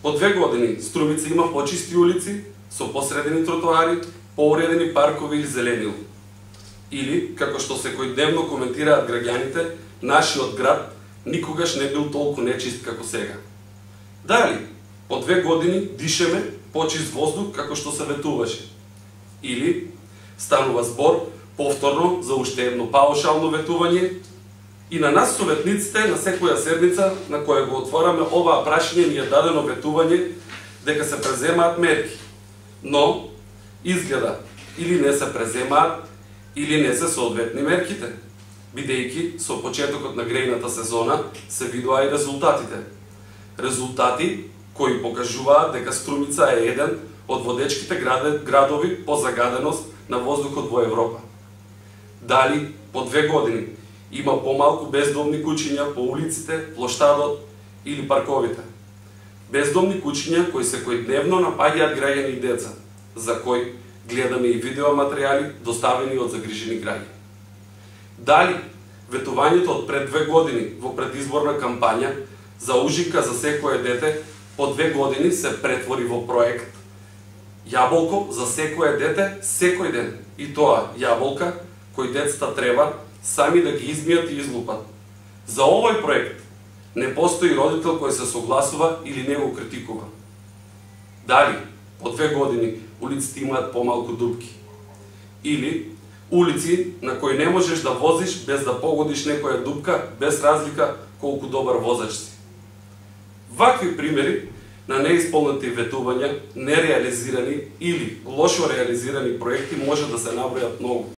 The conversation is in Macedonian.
По 2 години Струмица има почисти улици, со посредени тротоари, поуредени паркови или зеленило. Или, како што секојдневно коментираат граѓаните, нашиот град никогаш не бил толку нечист како сега. Дали, по 2 години дишеме почист воздух како што се ветуваше. Или, станува збор повторно за уште едно паушално ветување и на нас советниците на секоја седница на која го отвораме оваа прашање ни е дадено ветување дека се преземаат мерки. Но, изгледа, или не се преземаат, или не се соодветни мерките, бидејќи со почетокот на грејната сезона се видоа и резултатите. Резултати кои покажуваат дека Струмица е еден од водечките градови по загаденост на воздухот во Европа. Дали по 2 години има помалку бездомни куќиња по улиците, плоштадот или парковите. Бездомни куќиња кои секојдневно напаѓаат граѓани и деца, за кои гледаме и видеоматеријали доставени од загрижени граѓани. Дали ветувањето од пред 2 години во предизборна кампања за ужинка за секое дете по 2 години се претвори во проект јаболко за секое дете секој ден, и тоа јаболка кои децата треба сами да ги измијат и излупат. За овој проект не постои родител кој се согласува или не го критикува. Дали по 2 години улиците имаат помалку дупки? Или улици на кои не можеш да возиш без да погодиш некоја дупка, без разлика колку добар возач си? Вакви примери на неисполнети ветувања, нереализирани или лошо реализирани проекти може да се набројат многу.